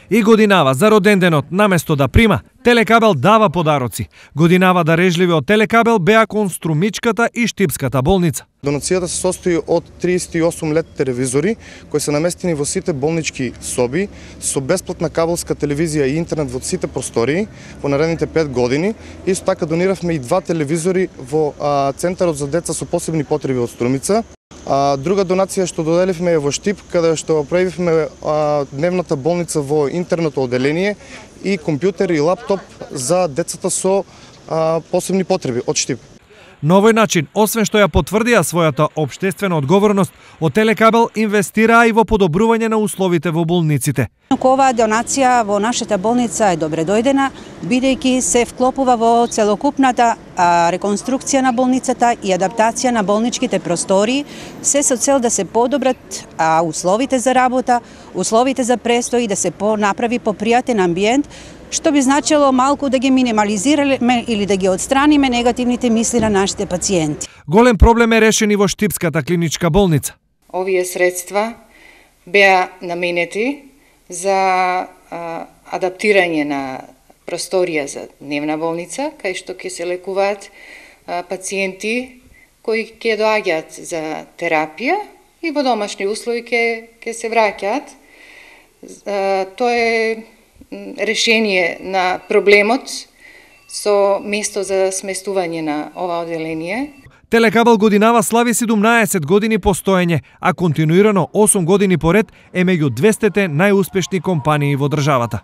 И годинава за роденденот, наместо да прима, Телекабел дава подароци. Годинава дарежливи од Телекабел беа кон Струмичката и Штипската болница. Донацијата се состои од 38 LED телевизори кои се наместени во сите болнички соби со бесплатна кабелска телевизија и интернет во сите простории во наредните 5 години. Исто така дониравме и 2 телевизори во Центарот за деца со посебни потреби од Струмица. Друга донација што доделивме е во Штип, каде што правивме дневната болница во интерното оделение и компјутер и лаптоп за децата со посебни потреби од Штип. На овој начин, освен што ја потврдија својата општествена одговорност, од Телекабел инвестираа и во подобрување на условите во болниците. Оваа донација во нашата болница е добре дојдена, бидејќи се вклопува во целокупната реконструкција на болницата и адаптација на болничките простории, се со цел да се подобрат условите за работа, условите за престој и да се направи попријатен амбиент, што би значило малку да ги минимализираме или да ги отстраниме негативните мисли на нашите пациенти. Голем проблем е решен и во Штипската клиничка болница. Овие средства беа наменети за адаптирање на просторија за дневна болница, кај што ќе се лекуваат пациенти кои ќе доаѓаат за терапија и во домашни услови ќе се враќаат. Тоа е решение на проблемот со место за сместување на ова оделение. Телекабел годинава слави 17 години постоење, а континуирано 8 години поред е меѓу 200 најуспешни компании во државата.